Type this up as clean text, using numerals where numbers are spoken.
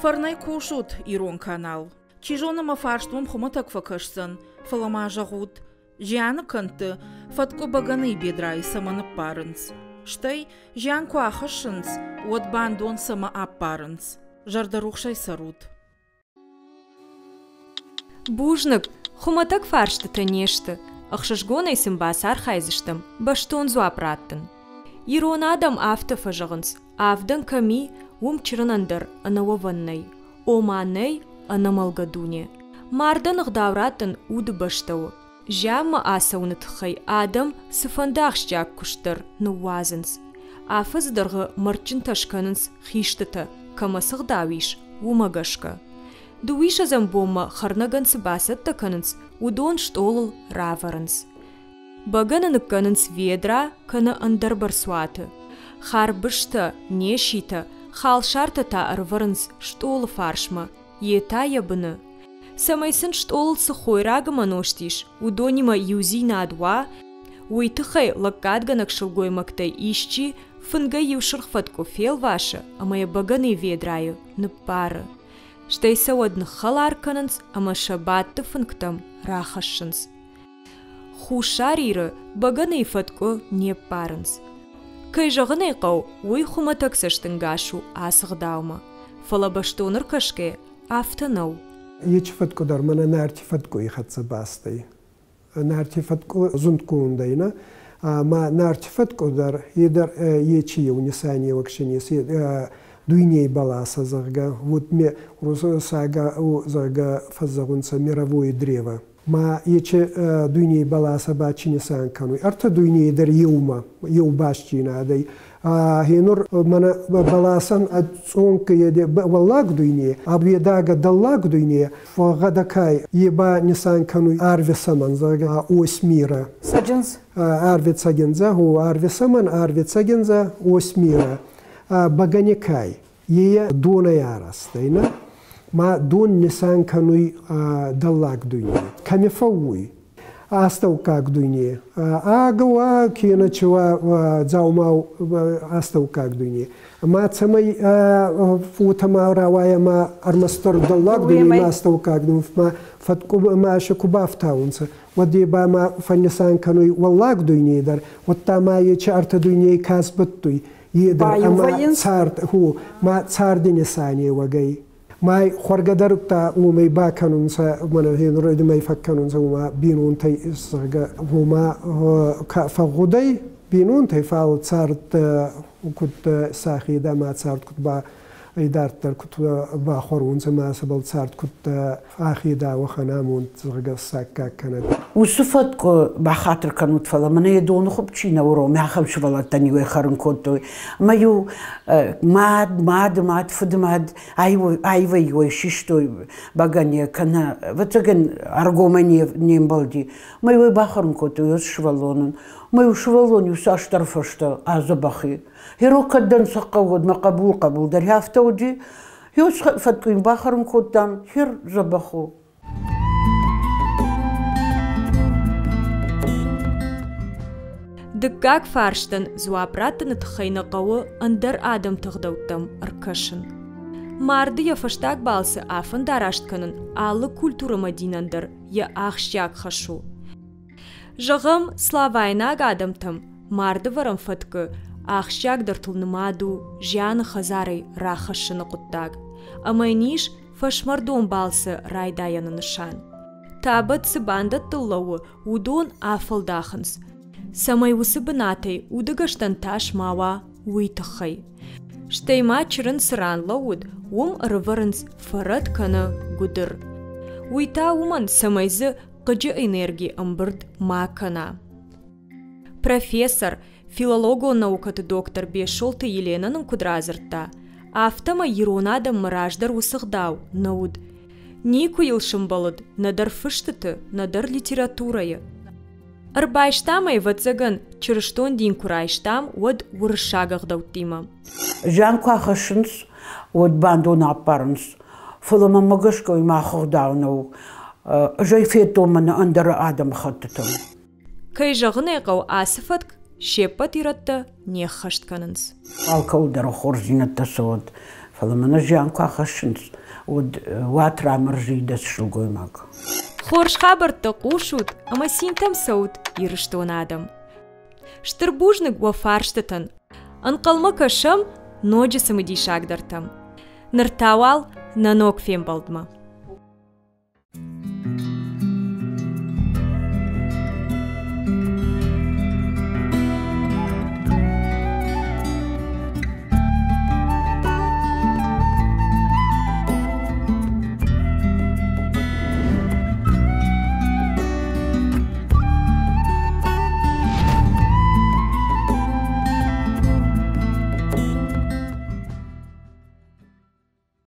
Фӕрнӕй кусут, ирон канал. Чи зоны, мӕ фарст уӕм хуымӕтӕг фӕкӕсдзӕн, фӕлӕ ма зӕгъут, зианы кӕндты фӕткъуы бӕгӕныйы бедрайы цӕмӕ ныппарынц? Стӕй, зиан куы ахӕссынц, уӕд бандон цӕмӕ ӕппарынц? Зӕрдӕрухсӕй цӕрут. Бузныг, хуымӕтӕг фарстытӕ не сты, ӕхсызгонӕй сын бацархайдзыстӕм бӕстон дзуапп раттын. Ирон адӕм афтӕ фӕзӕгъынц, авдӕн кӕм и, уым чырынӕн дӕр ӕнӕуӕвӕн нӕй, ома нӕй ӕнӕмӕлгӕ дуне. Мардӕн ӕгъдау раттын удыбӕстӕ у. Зианмӕ ацӕуыны тыххӕй адӕм цыфӕнды ахсджиаг куыст дӕр ныууадзынц. Афӕдзы дӕргъы мӕрдджынтӕ скӕнынц хистытӕ, кӕмӕ цы гъдау ис, уымӕ гӕсгӕ. Дыууиссӕдзӕм бонмӕ хӕрнӕгӕн цы бацӕттӕ кӕнынц, уыдон стъолыл равӕрынц. Бӕгӕны ныккӕнынц ведра кӕнӕ ӕндӕр бӕрцуаты. Харбызтӕ, неситӕ, халсартӕ та ӕрывӕрынц стъолы фарсмӕ, йе та йӕ быны. Цӕмӕй сын стъолыл цы хойраг ӕмӕ нозт ис, уыдонимӕ иудзинад уа, уый тыххӕй лӕггадгӕнӕг сылгоймӕгтӕй исчи фынгӕй иу сырх фӕткъуы фелвасы ӕмӕ йӕ бӕгӕныйы ведрайы ныппары. Стӕй сӕ уӕд ныххӕлар кӕнынц ӕмӕ сӕ бадты фынгтӕм рахӕссынц. Хуссар Иры бӕгӕныйы фӕткъуы не ппарынц. Кӕй зӕгъын ӕй хъӕуы, уый хуымӕтӕг цӕстӕнгас у ацы гъдаумӕ. Фӕлӕ бӕстон ӕркӕсгӕ афтӕ нӕу. Ечи фӕткъу дӕр мӕнӕ Нарти фӕткъуй хӕццӕ бастӕй. Нарти фӕткъу зундгонд ӕй, нӕ? Ма Нарти фӕткъу дӕр, е дӕр ечи еу нисанеуӕг си нес, дуйней бӕласӕ, зӕгъгӕ, вот ме сага, зӕгъгӕ, фӕззӕгъунцӕ мировое древо. Ма ечи дуйней бӕласӕ ба чи нисан кӕнуй? Ӕртӕ дуйней дӕр еумӕ, еу бастдзийнадӕй. Гьенур мӕнӕ бӕласӕн ӕд цъонк еде уӕллаг дуйне, а уедагӕ дӕллаг дуйне, гъӕдӕкай е ба нисан кӕнуй арви сӕмӕн, зӕгъгӕ, ось мира. Цӕджындз? Арви цӕгиндзӕ, гъо, арви сӕмӕн, арви цӕгиндзӕ, ось мира. Бӕгӕникай, е донӕй арӕзт ӕй, нӕ? Ма дон нисан кӕнуй дӕллаг дуйне. Кӕми фӕууй? Астӕуккаг дуйне. Агӕ уа, кенӕ чи уа дзаумау астӕуккаг дуйне. Ма цӕмӕй уотӕ рауайа ма ӕрмӕстдӕр дӕллаг дуйне ма астӕуккаг дуйне, ма фӕткъу ма сӕ ку бафтаунцӕ, уӕд е ба ма фӕннисан кӕнуй уӕллаг дуйней дӕр, уӕдта ма ечи ӕртӕ дуйней ка сбӕттуй, е дӕр ӕма цард, ху, ма царди нисанеуӕгӕй. Ма хуӕргӕ дӕр уомӕй бакӕнунцӕ, мӕнӕ гъенур фӕккӕнунцӕ, уома бийнонтӕй, зӕгъгӕ, уома фӕгъгъудӕй бийнонтӕй, фал цард куд сӕхе ма цард куд ба идарддӕр куд бахуӕрунцӕ ма сӕбӕл цард куд ӕхедӕ уӕхӕн амонд, зӕгъгӕ, саккаг кӕнӕд. Уыцы фӕткъуы бахатыр кӕнут, фӕлӕ мӕнӕ йӕ доны хуыпп чи нӕ уромы, ахӕм сывӕллӕттӕн-иу ӕй хӕрын кодтой. Ӕмӕ-иу мад, мады мад, фыды мад аивӕй-иу ӕй систой бӕгӕныйӕ кӕнӕ, ӕвӕццӕгӕн, ӕргомӕй не мбӕлди. Ӕмӕ-иу ӕй бахӕрын кодтой уыцы сывӕллонӕн. Ӕмӕ-иу сывӕллон-иу цасдӕр фӕстӕ адзӕбӕх и. Гъеро кӕд дӕн сӕ хъӕуы, уӕд мӕ хъӕбул хъӕбул дӕр афтӕ уыди. Еу фӕткъуин бахӕрын кодтам, хер дзӕбӕх у. Дыккаг фарстӕн дзуапп раттыны тыххӕй нӕ хъӕуы ӕндӕр адӕмты ӕгъдӕуттӕм ӕркӕсын. Марды йӕ фӕстаг балцы афӕндараст кӕнын алы культурӕмӕ динӕн дӕр йӕ ахсджиаг хӕс у. Зӕгъӕм, славайнаг адӕмтӕм мардывӕрӕн фӕткы ахсджиагдӕртыл нымад у зианы хӕдзарӕй рахӕссыны хъуыддаг, ӕмӕ йын ис фӕсмӕрдон балцы райдайӕны нысан. Табӕт цы бандӕттыл лӕууы, уыдон афӕлдахынц, цӕмӕй уыцы бынатӕй удыгӕстӕн тас ма уа, уый тыххӕй. Стӕй ма чырын цы ран лӕууыд, уым ӕрывӕрынц фӕрӕт кӕнӕ гуыдыр. Уый та уымӕн, цӕмӕй дзы хъыджы энерги ӕмбырд ма кӕна. Профессор, филологон наукӕты доктор Бесолты Еленӕ нын куыд радзырдта, афтӕмӕй ирон адӕммӕ раздӕр уыцы гъдау нӕ уыд. Никуы йыл сымбӕлыд нӕдӕр фыстыты, нӕдӕр литературӕйы. Ӕрбайстам ӕй, ӕвӕццӕгӕн, чырыстон дин куы райстам, уӕд уырыссаг ӕгъдӕуттимӕ. Зиан куы ахӕссынц, уӕд бандон аппарынц. Фӕлӕ мӕнмӕ гӕсгӕ уый мах ӕгъдау нӕу. Ӕз ӕй федтон мӕнӕ ӕндӕр адӕмыхӕттытӕм. Кӕй зӕгъын ӕй хъӕуы, ацы фӕтк се ппӕт ирӕттӕ не ххӕст кӕнынц. Алкӕуыл дӕр хорздзинӕдтӕ цӕуӕд. Фӕлӕ мӕнӕ зиан куы ахӕссынц, уӕд уат рамӕрзы идӕдз сылгоймаг. Хорз хабӕрттӕ хъусут ӕмӕ цинтӕм цӕут, Ирыстоны адӕм. Стыр бузныг уӕ фарстытӕн. Ӕнхъӕлмӕ кӕсӕм ноджы цымыдисагдӕртӕм. Ныр та уал нӕ ног фембӕлдмӕ.